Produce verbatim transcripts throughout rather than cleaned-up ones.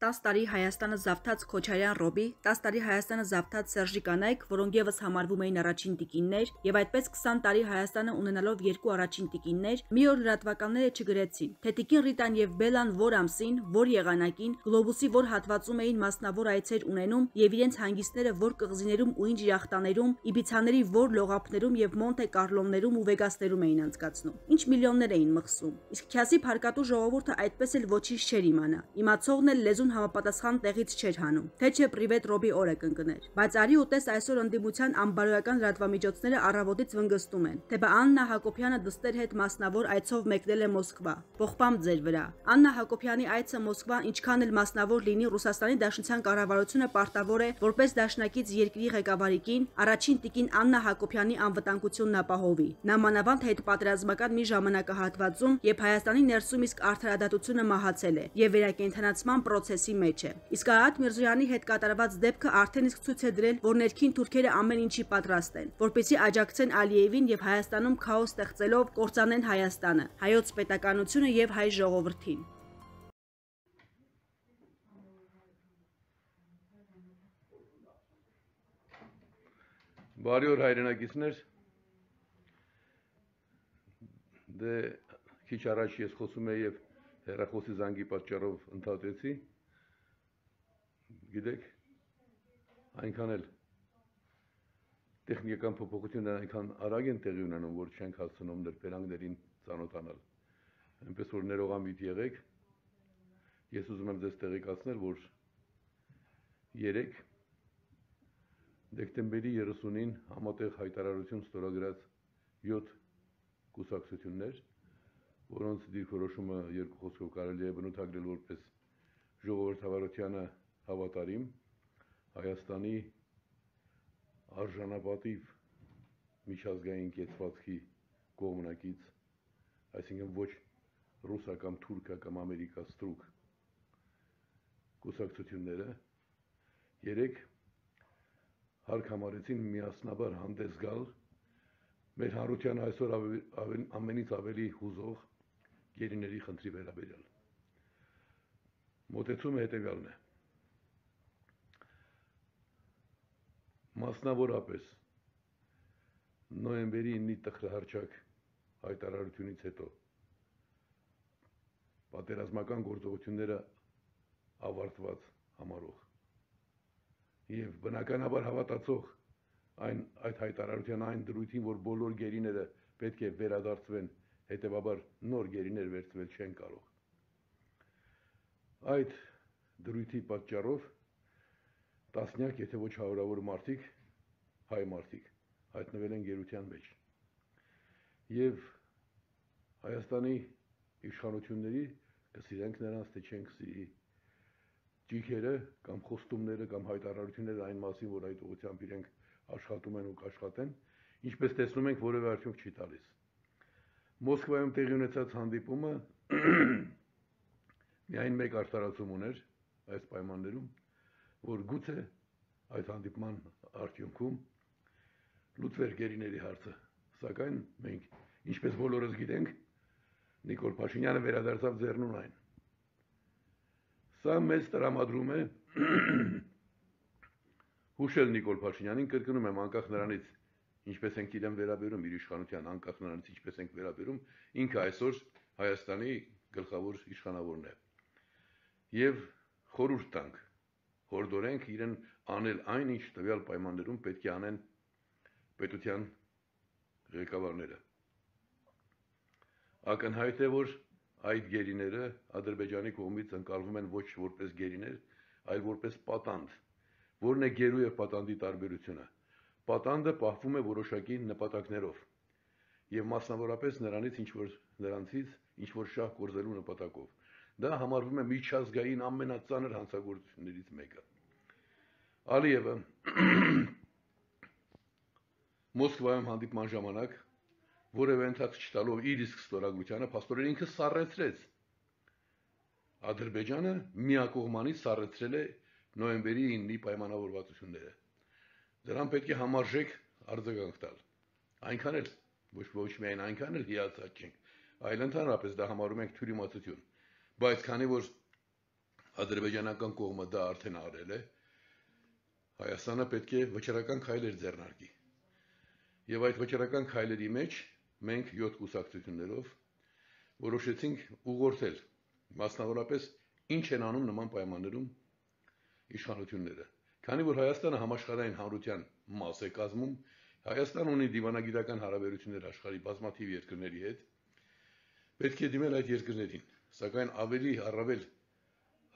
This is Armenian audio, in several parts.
տաս տարի Հայաստանը զավթած Քոչարյան Ռոբի, տաս տարի Հայաստանը զավթած Սերժի Կանայք, որոնք ևս համարվում էին առաջին տիկիններ, եւ այդպես քսան տարի Հայաստանը ունենալով երկու առաջին տիկիններ, մի օր լրատվականները չգրեցին, թե տիկին Ռիտան եւ Բելան որ ամսին, որ եղանակին, գլոբուսի որ հատվածում էին մասնավոր այցեր ունենում եւ իրենց հանգիստները որ կղզիներում ու ինչ յախտաներում, իբիցաների որ լողափներում եւ Մոնտե Կարլոներում ու Վեգասներում էին անցկացնում, ինչ միլիոններ էին մղսում։ Իսկ Քյասի փարկատու ժողովուրդը այդպես էլ ոչինչ չէր իմանա։ Իմացողն էլ լեզուն համապատասխան տեղից չէր հանում, թե չէ պրիվետ Ռոբի օրը կընկներ։ Բայց արի ու տես այսօր ընդդիմության անբարոյական լրատվամիջոցները առավոտից վնգստում են, թե բա Աննա Հակոբյանը դստեր հետ մասնավոր այցով մեկնել է Մոսկվա։ Ողբամ ձեր վրա։ Աննա Հակոբյանի այցը Մոսկվա ինչքան էլ մասնավոր լինի, Ռուսաստանի Դաշնության կառավարությունը պարտավոր է, որպես դաշնակից երկրի ղեկավարիկին, առաջին տիկին Աննա Հակոբյանի անվտանգությունն ապահովի։ Նա մանավանդ հետպատերազմական մի ժամանակահատվածում, երբ Հայաստանի ներսում իսկ արդարադատությունը մահացել է եւ վերակենդանացման պրոցեսի մեջ է։ Իսկ Արարատ Միրզոյանի հետ կատարված դեպքը արդեն իսկ ցույց է դրել, որ ներքին թուրքերը ամեն ինչի պատրաստ են, որպեսզի աջակցեն Ալիևին եւ Հայաստանում քաոս ստեղծելով կործանեն Հայաստանը, հայոց պետականությունը եւ հայ ժողովրդին։ Բարի օր հայրենակիցներ, դե քիչ առաջ ես խոսում եի եւ հեռախոսի զանգի պատճառով ընդհատեցի, գիտեք, այնքան էլ տեխնիկական փոփոխությունները այնքան արագ են տեղի ունենում, որ չենք հասցնում նրբերանգներին ծանոթանալ, այնպես որ ներողամիտ եղեք, ես ուզում եմ ձեզ տեղեկացնել, որ երեկ դեկտեմբերի երեսունին համատեղ հայտարարություն ստորագրած յոթ կուսակցություններ, որոնց դիրքորոշումը երկու խոսքով կարելի է բնութագրել որպես ժողովրդավարությանը հավատարիմ, Հայաստանի արժանապատիվ միջազգային կեցվածքի կողմնակից, այսինքն ոչ ռուսա կամ թուրքա կամ ամերիկա ստրուկ կուսակցությունները, երեք հարկ համարեցին միասնաբար հանդես գալ մեր հանրության այսօր ամենից ավելի հուզող գերիների խնդրի վերաբերյալ։ Մոտեցումը հետևյալն է. մասնավորապես նոյեմբերի իննի տխրահարճակ հայտարարությունից հետո պատերազմական գործողությունները ավարտված համարող եւ բնականաբար հավատացող այն այդ հայտարարության այն դրույթին, որ բոլոր գերիները պետք է վերադարձվեն, հետեւաբար նոր գերիներ վերցվել չեն կարող։ Այդ դրույթի պատճառով տասնյակ, եթե ոչ հարյուրավոր մարդիկ, հայ մարդիկ, հայտնվել են գերության մեջ։ Եվ Հայաստանի իշխանությունների կսիրենք նրանց, թե չենք սիրի, ճիգերը կամ խոստումները կամ հայտարարությունները այն մասին, որ այդ ուղղությամբ իրենք աշխատում են ու կաշխատեն, ինչպես տեսնում ենք, որևէ արդյունք չի տալիս։ Մոսկվայում տեղի ունեցած հանդիպումը միայն մեկ արտարացում ուներ այս պայմաններում, որ գուցե այդ հանդիպման արդյունքում լուծվեր գերիների հարցը, սակայն մենք, ինչպես բոլորս գիտենք, Նիկոլ Փաշինյանը վերադարձավ Ձեռնունայն։ Սա մեզ տրամադրում է հուշել Նիկոլ Փաշինյանին, կրկնում եմ, անկախ նրանից, ինչպես ենք իրեն վերաբերում, իր իշխանության, անկախ նրանից, ինչպես ենք վերաբերում, ինքը այսօր Հայաստանի գլխավոր իշխանավորն է։ Եվ խորհուրդ տանք, հորդորենք իրեն անել այն, ինչ տվյալ պայմաններում պետք է անեն պետության ղեկավարները։ Ակնհայտ է, որ այդ գերիները Ադրբեջանի կողմից ընկալվում են ոչ որպես գերիներ, այլ որպես պատանդ։ Որն է գերու եւ պատանդի տարբերությունը։ Պատանդը պահվում է որոշակի նպատակներով եւ մասնավորապես նրանից ինչ որ նրանցից ինչ որ շահ կորզելու նպատակով։ Դա համարվում է միջազգային ամենածանր հանցագործություններից մեկը։ Ալիևը Մոսկվայում հանդիպման ժամանակ որևէ ընթացք չտալով իր իսկ ստորագրությանը փաստորեն ինքը սառեցրեց։ Ադրբեջանը միակողմանի սառեցրել է նոյեմբերի իննի պայմանավորվածությունները։ Դրան պետք է համարժեք արձագանք տալ։ Այնքան էլ ոչ ոչ միայն այնքան էլ հիացած չենք, այլ ընդհանրապես դա համարում ենք թյուրիմացություն։ Բայց քանի որ ադրբեջանական կողմը դա արդեն արել է, Հայաստանը պետք է վճռական քայլեր ձեռնարկի։ Եվ այդ վճռական քայլերի մեջ մենք յոթ կուսակցություններով որոշեցինք ուղղորդել, մասնավորապես ինչ են անում նման պայմաններում իշխանությունները։ Քանի որ Հայաստանը համաշխարհային հանրության մաս է կազմում, Հայաստանը ունի դիվանագիտական հարաբերություններ աշխարհի բազմաթիվ երկրների հետ, պետք է դիմել այդ երկրներին, սակայն ավելի առավել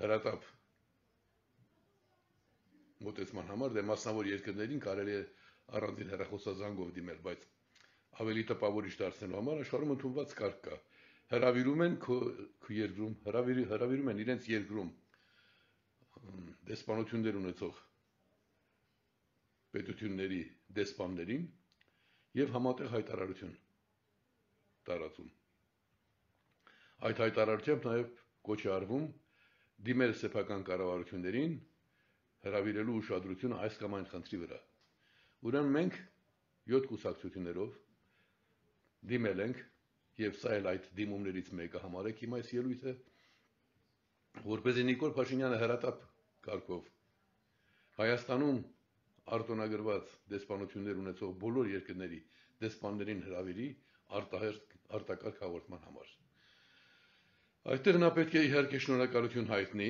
հրատապ մոտեցման համար դե մասնավոր երկրներին կարելի է առանձին հեռախոսազանգով դիմել, բայց ավելի տպավորիչ դարձնելու համար աշխարհում ընդունված կարգ կա։ Հրավիրում են քո երկրում, հրավիրում են իրենց երկրում դեսպանություններ ունեցող պետությունների դեսպաններին եւ համատեղ հայտարարություն տարածում։ Այդ հայտարարությամբ նաեւ կոչ է արվում դիմել սեփական կառավարություններին հրավիրելու ուշադրությունը այս կամ այն խնդրի վրա։ Ուրեմն մենք յոթ կուսակցություններով դիմել ենք եւ սա էլ այդ դիմումներից մեկը համարեք իմ այս ելույթը, որպեսզի Նիկոլ Փաշինյանը հրատապ կարգով Հայաստանում արտոնագրված դեսպանություններ ունեցող բոլոր երկրների դեսպաններին հրավիրի արտակարգ հաղորդման համար։ Այդտեղ նա պետք է իհարկե շնորհակալություն հայտնի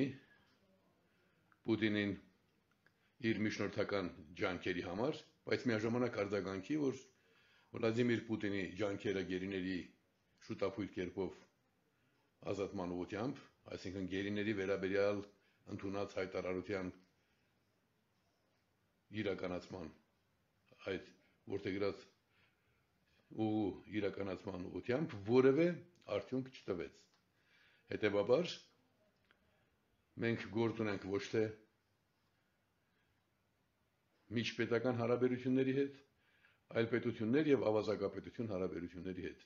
Պուտինին իր միջնորդական ջանքերի համար, բայց միաժամանակ արձագանքի, որ Վլադիմիր Պուտինի ջանքերը գերիների շուտապույտ կերպով ազատման ուղղությամբ, այսինքն գերիների վերաբերյալ ընդունած հայտարարության իրականացման այդ որտեղած ու իրականացման ուղղությամբ որևէ արդյունք չտվեց։ Հետևաբար մենք գործ ունենք ոչ թե միջպետական հարաբերությունների հետ, այլ պետություններ եւ ավազակապետություն հարաբերությունների հետ։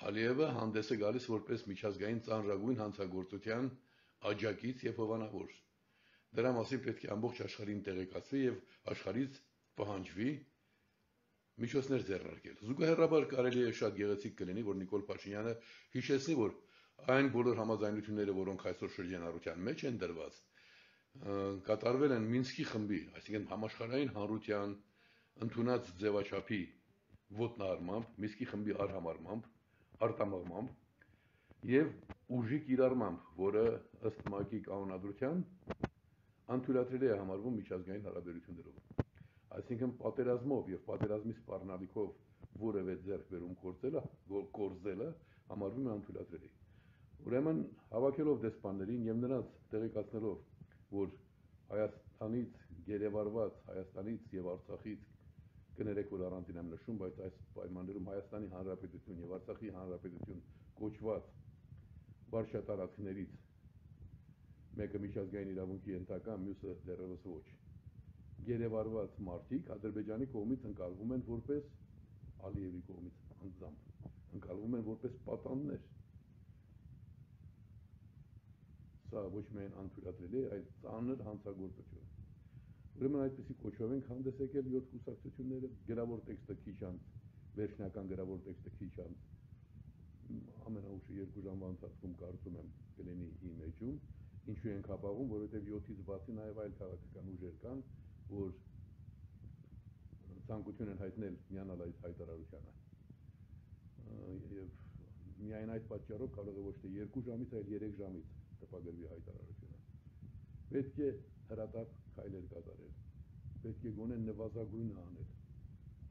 Ալիևը հանդես է գալիս որպես միջազգային ծանրագույն հանցագործության աջակից եւ հովանավոր։ Դրա մասին պետք է ամբողջ աշխարհին տեղեկացվի եւ աշխարհից պահանջվի միջոցներ ձեռնարկել։ Զուգահեռաբար կարելի է շատ գեղեցիկ կլինի, որ Նիկոլ Փաշինյանը հիշեցնի, որ այն բոլոր համաձայնությունները, որոնք այսօր շրջանառության մեջ են դրված, կատարվել են Մինսկի խմբի, այսինքն համաշխարհային հանրության ընդունած ձևաչափի ոտնահարմամբ, Մինսկի խմբի արհամարմամբ, արտամղմամբ եւ ուժի կիրառմամբ, որը ըստ ՄԱԿ-ի կանոնադրության անթույլատրելի է համարվում միջազգային հարաբերություններով։ Այսինքն պատերազմով եւ պատերազմի սպառնալիքով որևէ ձեռքբերում կործելը, կորզելը համարվում է անթույլատրելի։ Ուրեմն հավաքելով դեսպաններին եւ նրանց տեղեկացնելով, որ Հայաստանից գերեվարված, Հայաստանից եւ Արցախից կներեք, որ առանձին եմ նշում, բայց այս պայմաններում Հայաստանի Հանրապետություն եւ Արցախի Հանրապետություն կոչված վարչատարածքներից մեկը միջազգային իրավունքի ենթակա, մյուսը դեռևս ոչ։ Գերեվարված մարդիկ Ադրբեջանի կողմից ընկալվում են որպես Ալիևի կողմից անձամբ, ընկալվում են որպես պատաններ։ Սա ոչ միայն անթույլատրելի է, այլ ծանր հանցագործություն։ Ուրեմն այդպիսի կոչով ենք հանդես եկել յոթ կուսակցությունները, գրավոր տեքստը քիչ անց, վերջնական գրավոր տեքստը քիչ անց, ամենաուշը երկու ժամվա ընթացքում կարծում եմ կլինի իմ էջում, ինչու ենք ապահովում, որովհետև յոթից բացի նաև այլ քաղաքական ուժեր կան, որ ցանկություն են հայտնել միանալ այդ հայտարարությանը։ Եվ միայն այդ պատճառով կարող է ոչ թե երկու ժամից, այլ երեք ժամից տպագրվի հայտարարությունը։ Պետք է հրատապ քայլեր կատարել, պետք է գոնե նվազագույնը անել։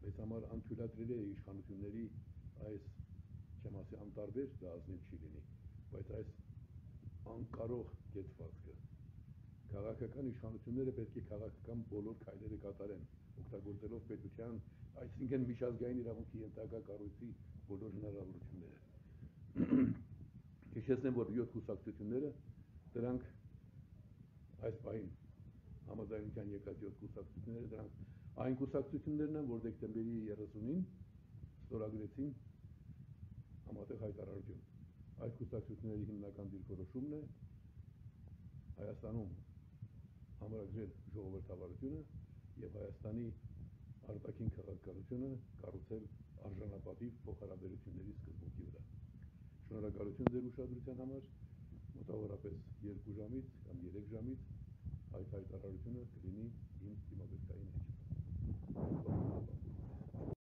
Մեզ համար անթույլատրելի է իշխանությունների այս, չեմ ասի անտարբեր, դա ազնիվ չի լինի, բայց այս անկարող կեցվածքը։ Քաղաքական իշխանությունները պետք է քաղաքական բոլոր քայլերը կատարեն, օգտագործելով պետության, այսինքն միջազգային իրավունքի ենթակա կառույցի բոլոր հնարավորությունները։ Հիշեցնեմ, որ յոթ կուսակցությունները դրանք այս պահին համաձայնության եկած յոթ կուսակցությունները դրանք այն կուսակցություններն են, որ դեկտեմբերի երեսունին ստորագրեցին համատեղ հայտարարություն։ Այդ կուսակցությունների հիմնական դիրքորոշումն է Հայաստանում համարագրել ժողովրդավարությունը եւ Հայաստանի արտաքին քաղաքականությունը կառուցել արժանապատիվ փոխհարաբերությունների սկզբունքի վրա։ Շնորհակալություն ձեր ուշադրության համար մոտավորապես երկու ժամից կամ երեք ժամից այդ հայտարարությունը կլինի իմ